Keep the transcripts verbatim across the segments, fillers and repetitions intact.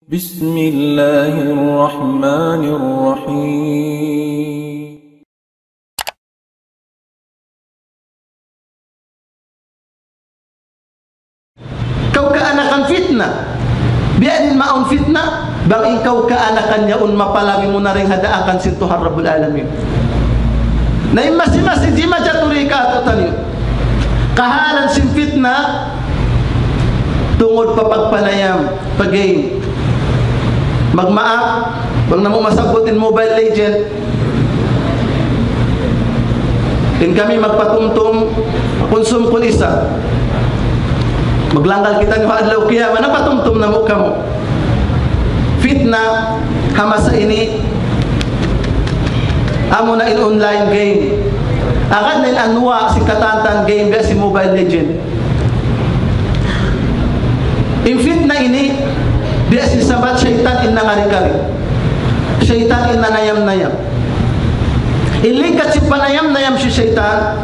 بسم الله الرحمن الرحيم. Kaw kaanakan fitna. Biya' diin mawn fitna, bang in kaw kaanakan yaun mapalabi mu na dayn ha daakan sin Tuhan Rabbul Alamin. Na in masi-masi di' majaturi katu'taniyu. Kahalan sin fitna, tungud pa pagpanayam, pa game. Magmaap, bang namu' masabbut in Mobile Legend. In kami magpatumtum, kunsum kun isa. Maglanggal kitaniyu ha adlaw kiyamat, napatumtum namu' kamu. Fitna, ha masa ini, amuna in online game. Agad na in anwa' sin katantan game, biya' sin Mobile Legend. In fitna ini, biya' sin sabat saytan in nangari-kari. Saytan in nanayam-nayam. In ligat sin panayam-nayam sin saytan,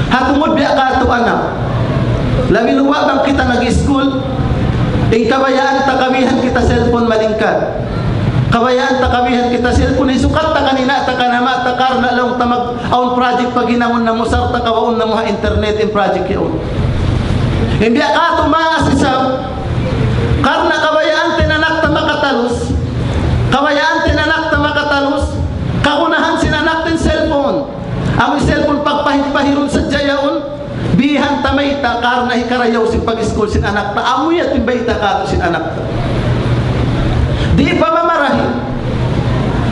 ha tungud biya' katu' anak. Labi luba' bang kita nag-school, in kabayaan ta kabihan kita cellphone malingkat. Kabayaan ta kabihan kita cellphone, hisukat ta kan ina' ta kan ama' ta karna' laung ta mag-, awn project paghinangun namu' sarta' kawaun namu' ha internet in project yaun. In biya' katu' maas isab, karna' kabayaan ta in anak ta makatalus, kabayaan ta in anak ta makatalus, kagunahan sin anak ta in cellphone. Amu in cellphone pagpahir-pahirun sadja yaun, bihan ta mayta' karna' hikarayaw sin pag-school sin anak ta, amu yadtu in bayta' katu' sin anak ta. Di' pa mamarahi.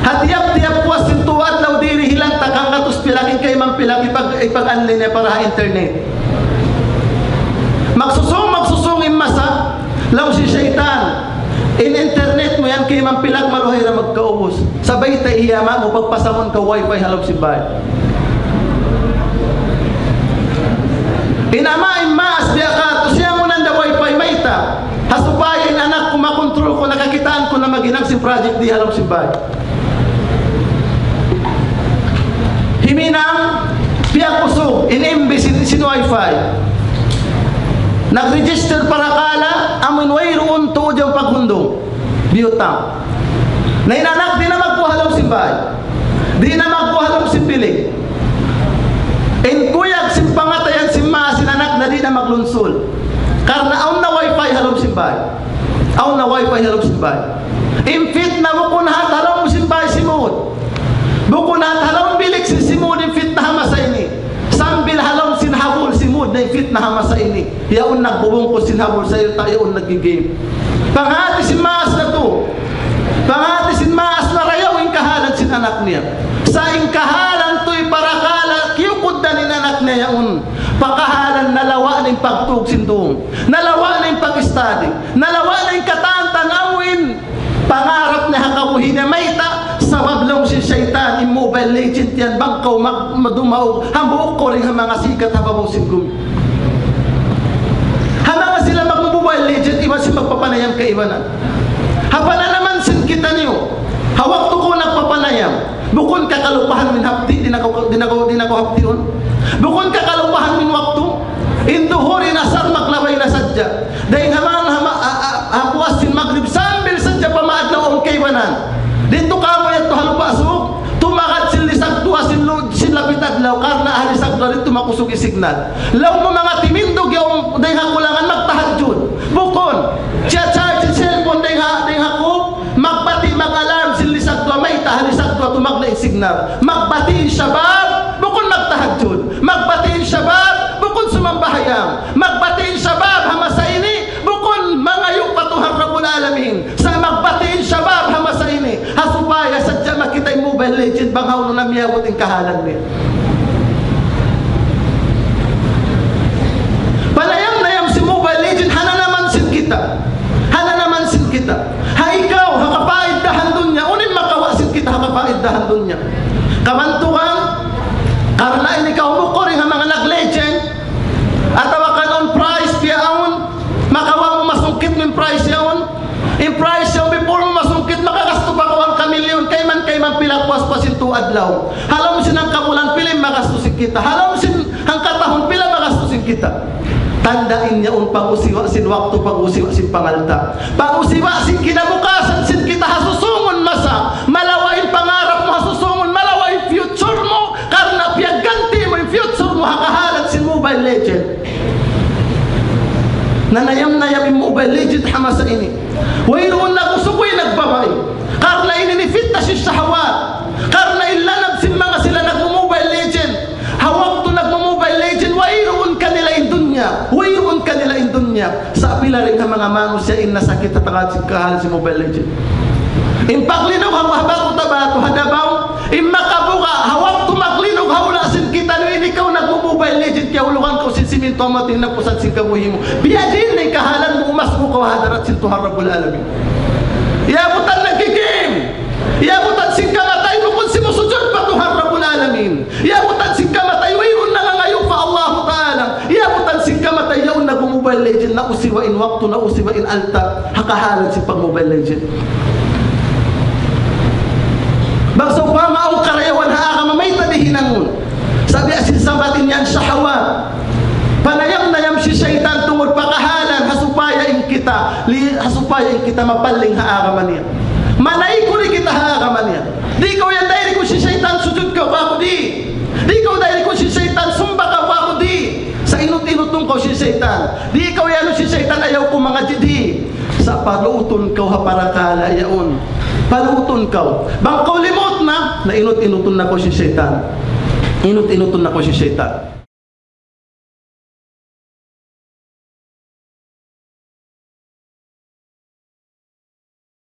Ha tiyap-tiyap puas sin tū adlaw dirihilan ta hanggatus pilak in kayman pilak ipag-, ipag-anli niya para ha internet. Magsusung, magsusung in masa, laung sin saytan, in internet mu yan kayman pilak maluhay da magkaubus. Sabay ta iyama mu pagpasamun kaw wifi ha lawm sin bāy. In ama' in maas biya' katu', siyangunan da wifi mayta'. Ha supaya in anak ku makontrol ku, nakakitaan ku na maghinang sin project di ha lawm sin bāy. Himinang, piyag-usug, in M B sin, sin wifi. Nag-register parakala', amun wayruun tuud yan paghundung. Biyutang. Na in anak di' na magkuha ha lawm sin bāy. Di' na magkuha ha lawm sin bilik. In kuyag sin pangatayan sin maas in anak na di' na maglunsul. Karna' awn na wifi ha lawm sin bāy. Awn na wifi ha lawm sin bāy. In fitna bukun hat ha lawm sin bāy simud. Bukun hat ha lawm bilik sin simud in fitna ha masa ini. Sambil ha lawm sin habul simud na in fitna ha masa ini. Yaun nagbubungkus sin habul sayta', yaun naggi-game. Panghati sin maas natu'. Panghati sin maas narayaw in kahalan sin anak niya. Sa' in kahalan tuud parakala' kiyukuddan in anak niya yaun. Pakahalan nalawa' na in pagtug sin dum. Nalawa' na in pag-study. Nalawa' na in katantan awn. Pangarap niya ha kabuhi' niya mayta', sabab laung sin saytan, in Mobile Legend yan, bang kaw mag-, madumaug, hambuuk kaw dayn ha manga sikat ha babaw sin gumi. Ha manga sila mag-Mobile Legend, iban sin magpapanayam kaibanan. Ha pananaman sin kitaniyu, ha waktu kaw nagpapanayam, bukun ka kalupahan min hapdi', di' na kaw, di' na kaw, di' na kaw hapdiun. Bukun ka kalupahan min waktu, in duhur, in asar, maglabay na sadja. Dayn ha manga, ha ma-, a, a, ha puas sin magrib sambil sadja pa maadlaw awn kaibanan. Didtu kamu yadtu ha Lupa' Sug, tumagad sin lisag duwa sin lu-, sin lapit adlaw, karna' ha lisag duwa didtu makusug in signal. Laung mu manga timindug yaun dayn ha kulangan magtahajjud. Bukun, siya charge sin cellphone dayn ha, dayn ha kub, magbati' mag-alarm sin lisag duwa, mayta' ha lisag duwa tumagna' in signal. Magbati' in shabab, bukun magtahajjud. Magbati' in shabab, bukun sumambahayang. Magbati' in shabab ha masa ini, bukun mangayu' pa Tuhan Rabbul Alamin. Sa' magbati' in shabab ha masa ini, ha supaya sadja makita' in Mobile Legend bang hawnu na miyabut in kahalan niya. Panayam-nayam sin Mobile Legend, hananaman sin kita. Hananaman sin kita. Ha ikaw, ha kapaiddahan dunya, unu in makawa' sin kita ha kapaiddahan dunya. Kabantugan, karna' ini kaw bukuri ha manga nag-legend, atawa kan awn prize, piyaun, makawa' mu masungkit mu in prize yaun. In prize yaun, before mu masungkit, makagastu pa kaw hangka milyon, kayman, kayman pila puas pa sin tū adlaw. Ha lawm sin hangka bulan, pila in magastu sin kita. Ha lawm sin hangka tahun, pila magastu sin kita. Tanda' in yaun pag-usiwa sin waktu, pag-usiwa sin pangalta'. Pag-usiwa sin kinabukasan, Nayam-nayam in Mobile Legend ha masa ini. Wayruun na gusukuy nagbabai. Karna' ini in fitna sin shahawat. Karna' in lanab sin manga sila nagmu-Mobile Legend. Ha waktu nagmu-Mobile Legend, wayruun kanila in dunya. Wayruun kanila in dunya. Sa' pila dayn ha manga manusiya' in nasakit ha tungud sin kahalan sin Mobile Legend. In paglinug ha Baku Tabato, ha Davao, in makabuga', ha waktu maglinu' ha hula' sin kitaniyu, in ikaw nagmu-Mobile Legend, kiyahulugan kaw sin simintu amu in nagpusat sin kabuhi' mu. Biya' diin in kahalan mu, umas mu kaw ha hadarat sin Tuhan Rabbul Alamin. Iyabutan nagki-game. Iyabutan sin kamatay, bukun simusujud pa Tuhan Rabbul Alamin. Iyabutan sin kamatay, wayruun nangangayu' pa Allahu Ta'ala. Iyabutan sin kamatay, yaun nagmu-Mobile Legend, nausiwa in waktu, nausiwa in alta', ha kahalan sin pag-Mobile Legend. Bang sawpama awn karayawan ha agama, mayta' di' hinangun? Sabab sin sabab niyan shahawat. Panayam-nayam sin saytan tungud pa kahalan, ha supaya in kita, li-, ha supaya in kita mapaling ha agama niya. Manaykud kita ha agama niya. Di' kaw yan dayn kun sin saytan sujud kaw pa aku, di'. Di' kaw dayn kun sin saytan sumba kaw pa aku, di'. Sa' inut-inutun kaw sin saytan. Di' kaw yan sin saytan, ayaw kaw mangadji', di'. Sa' palutun kaw ha parakala' yaun. Palutun kaw. Bang kaw limut na, na inut-inutun na kaw sin saytan. Inut-inutun na kaw sin saytan.